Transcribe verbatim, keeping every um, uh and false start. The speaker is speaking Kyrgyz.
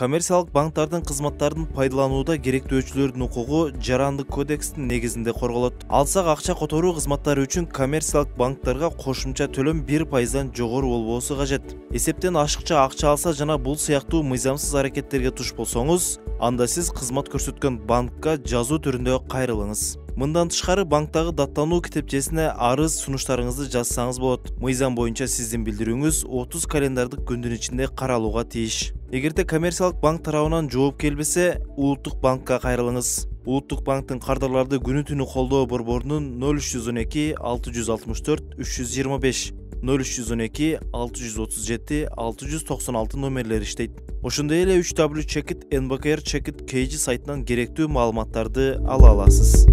Коммерциялык банктардын кызматтарын пайдаланууда керектөөчүлөрдүн укугу Жарандык кодекстин негизинде корголот. Алсак акча которуу кызматтары үчүн коммерциялык банктарга кошумча төлөм бир пайыздан жогору болбосу кажет. Эсептен ашыкча акча алса жана бул сыяктуу мыйзамсыз аракеттерге туш болсоңуз, анда сиз кызмат көрсөткөн банкка жазуу түрүндө кайрылыңыз. Мындан тышкары банктагы даттануу китепчесине арыз сунуштарыңызды жазсаңыз болот. Мыйзам боюнча сиздин билдирүүңүз отуз календардык күндүн ичинде каралууга тийиш. Эгерде коммерциялык банк тарабынан жооп келбесе, улуттук банкка кайрылыңыз. Улуттук банктын кардарларды күнү түнү колдоо борборунун ноль үч жүз он эки алты жүз алтымыш төрт үч жүз жыйырма беш ноль үч жүз он эки алты жүз отуз жети алты жүз токсон алты номерлери иштейт. Ошондой эле үч дабл ю чекит эн бэ ка эр чекит кей жи сайтынан керектүү маалыматтарды ала аласыз.